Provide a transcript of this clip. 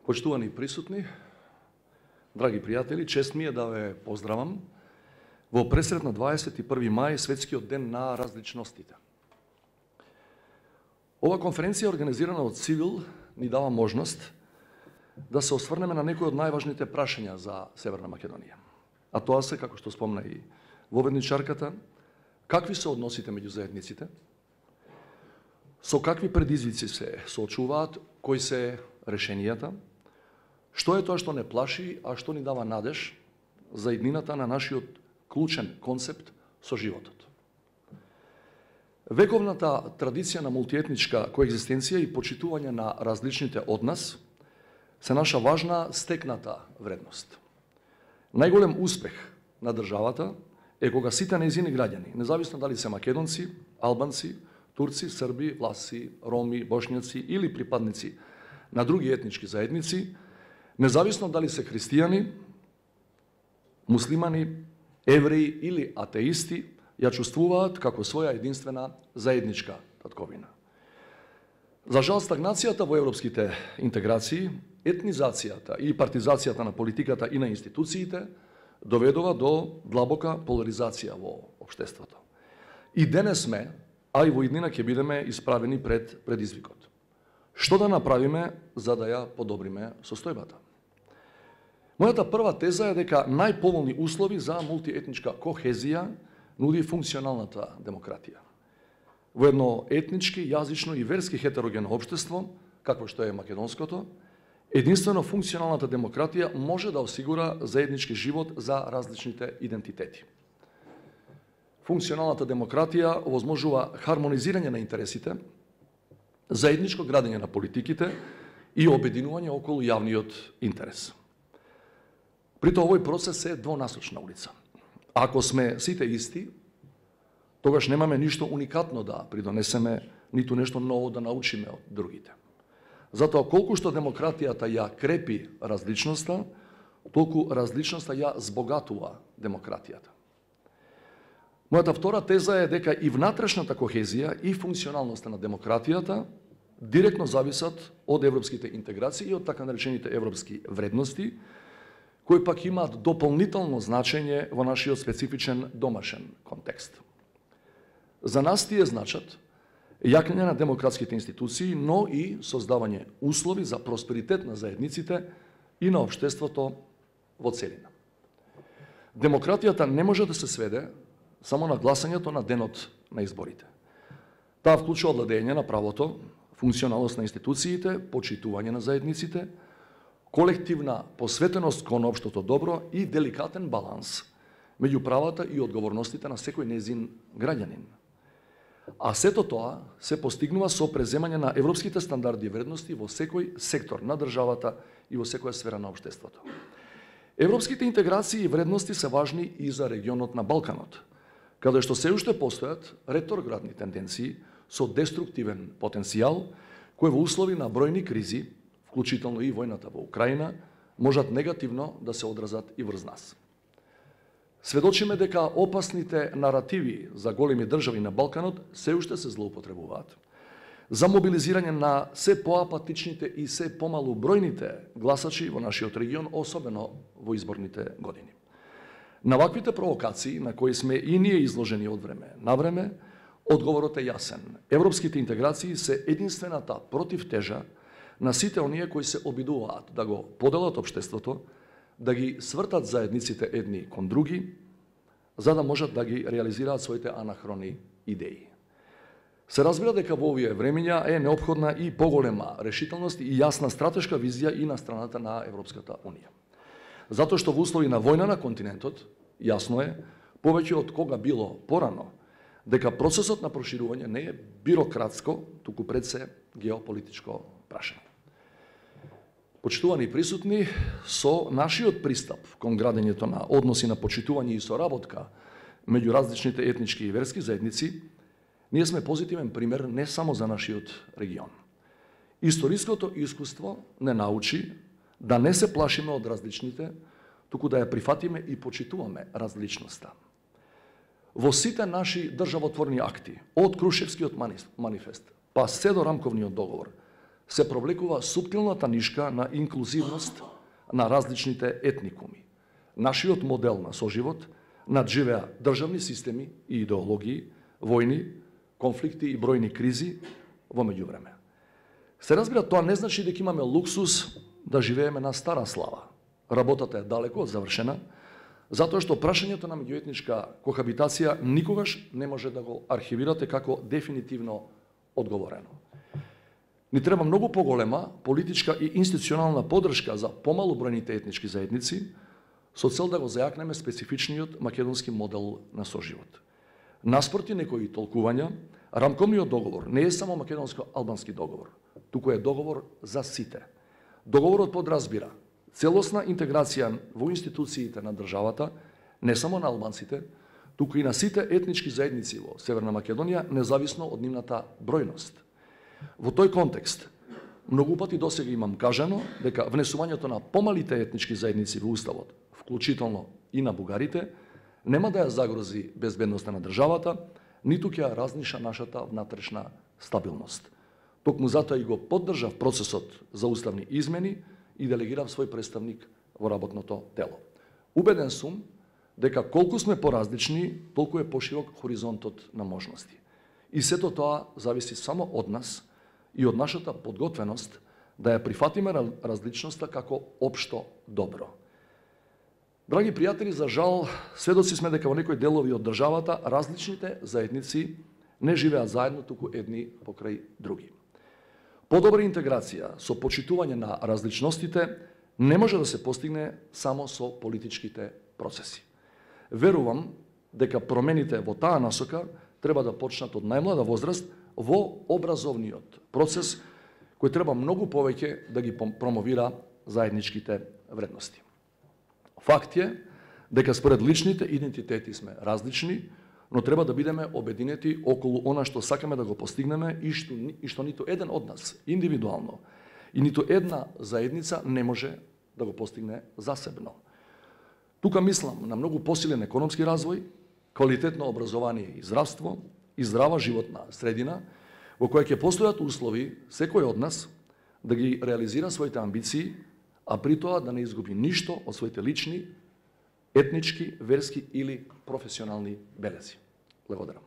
Почитувани присутни, драги пријатели, чест ми е да ве поздравам во пресрет на 21. мај, светскиот ден на различностите. Ова конференција организирана од Цивил ни дава можност да се осврнеме на некои од најважните прашања за Северна Македонија. А тоа се, како што спомна и воведничарката, какви се односите меѓу заедниците, со какви предизвици се соочуваат, кои се решенијата, што е тоа што не плаши, а што ни дава надеж за иднината на нашиот клучен концепт со животот. Вековната традиција на мултиетничка коегзистенција и почитување на различните од нас се наша важна стекната вредност. Најголем успех на државата е кога сите нејзини граѓани, независно дали се македонци, албанци, турци, срби, власци, роми, бошњаци или припадници на други етнички заедници, независно дали се христијани, муслимани, евреи или атеисти, ја чувствуваат како своја единствена заедничка татковина. За жал, стагнацијата во европските интеграции, етнизацијата и партизацијата на политиката и на институциите доведува до длабока поларизација во општеството. И денес сме, а и во иднина ќе бидеме исправени пред предизвикот. Што да направиме за да ја подобриме состојбата? Мојата прва теза е дека најповолни услови за мултиетничка кохезија нуди функционалната демократија. Во едно етнички, јазично и верски хетерогенно општество, какво што е македонското, единствено функционалната демократија може да осигура заеднички живот за различните идентитети. Функционалната демократија овозможува хармонизирање на интересите, заедничко градење на политиките и обединување околу јавниот интерес. Прито овој процес е двонасочна улица. Ако сме сите исти, тогаш немаме ништо уникатно да придонесеме, ниту нешто ново да научиме од другите. Затоа, колку што демократијата ја крепи различноста, толку различноста ја збогатува демократијата. Мојата втора теза е дека и внатрешната кохезија и функционалноста на демократијата директно зависат од европските интеграции и од така наречените европски вредности, кои пак имаат дополнително значење во нашиот специфичен домашен контекст. За нас тие значат јакнење на демократските институции, но и создавање услови за просперитет на заедниците и на општеството во целина. Демократијата не може да се сведе само на гласањето на денот на изборите. Таа вклучува владење на правото, функционалност на институциите, почитување на заедниците, колективна посветеност кон општото добро и деликатен баланс меѓу правата и одговорностите на секој нејзин граѓанин. А сето тоа се постигнува со преземање на европските стандарди и вредности во секој сектор на државата и во секоја сфера на општеството. Европските интеграции и вредности се важни и за регионот на Балканот, каде што се уште постојат ретроградни тенденции со деструктивен потенцијал, кои во услови на бројни кризи, вклучително и војната во Украина, можат негативно да се одразат и врз нас. Сведочиме дека опасните наративи за големи држави на Балканот се уште се злоупотребуваат за мобилизирање на се поапатичните и се помалу бројните гласачи во нашиот регион, особено во изборните години. На ваквите провокации, на кои сме и ние изложени од време на време, одговорот е јасен. Европските интеграции се единствената противтежа на сите оние кои се обидуваат да го поделат општеството, да ги свртат заедниците едни кон други, за да можат да ги реализираат своите анахрони идеи. Се разбира дека во овие времења е неопходна и поголема решителност и јасна стратешка визија и на страната на Европската Унија. Затоа што во услови на војна на континентот, јасно е, повеќе од кога било порано, дека процесот на проширување не е бирократско, туку пред се геополитичко прашање. Почитувани присутни, со нашиот пристап кон градењето на односи на почитување и соработка меѓу различните етнички и верски заедници, ние сме позитивен пример не само за нашиот регион. Историското искуство не научи да не се плашиме од различните, туку да ја прифатиме и почитуваме различноста. Во сите наши државотворни акти, од Крушевскиот манифест, па се до Рамковниот договор, се провлекува суптилната нишка на инклузивност на различните етникуми. Нашиот модел на соживот надживеа државни системи и идеологии, војни, конфликти и бројни кризи во меѓувреме. Се разбира, тоа не значи дека имаме луксус да живееме на стара слава. Работата е далеко од завршена, затоа што прашањето на меѓуетничка кохабитација никогаш не може да го архивирате како дефинитивно одговорено. Ни треба многу поголема политичка и институционална поддршка за помалу бројните етнички заедници, со цел да го зајакнеме специфичниот македонски модел на соживот. Наспроти некои толкувања, рамковниот договор не е само македонско-албански договор, туку е договор за сите. Договорот подразбира целосна интеграција во институциите на државата, не само на албанците, туку и на сите етнички заедници во Северна Македонија, независно од нивната бројност. Во тој контекст, многу пати досега имам кажано дека внесувањето на помалите етнички заедници во Уставот, вклучително и на бугарите, нема да ја загрози безбедноста на државата, ниту ќе ја разниша нашата внатрешна стабилност. Токму затоа и го поддржав процесот за уставни измени и делегирав свој представник во работното тело. Убеден сум дека колку сме поразлични, толку е поширок хоризонтот на можности. И сето тоа зависи само од нас и од нашата подготвеност да ја прифатиме различноста како општо добро. Драги пријатели, за жал, сведоци сме дека во некои делови од државата различните заедници не живеат заедно, туку едни покрај други. Подобра интеграција со почитување на различностите не може да се постигне само со политичките процеси. Верувам дека промените во таа насока треба да почнат од најмлада возраст во образовниот процес, кој треба многу повеќе да ги промовира заедничките вредности. Факт е дека според личните идентитети сме различни, но треба да бидеме обединети околу она што сакаме да го постигнеме и што ниту еден од нас индивидуално и ниту една заедница не може да го постигне засебно. Тука мислам на многу посилен економски развој, квалитетно образование и здравство и здрава животна средина во која ќе постојат услови секој од нас да ги реализира своите амбиции, а при тоа да не изгуби ништо од своите лични, етнички, верски или професионални белези. Благодарам.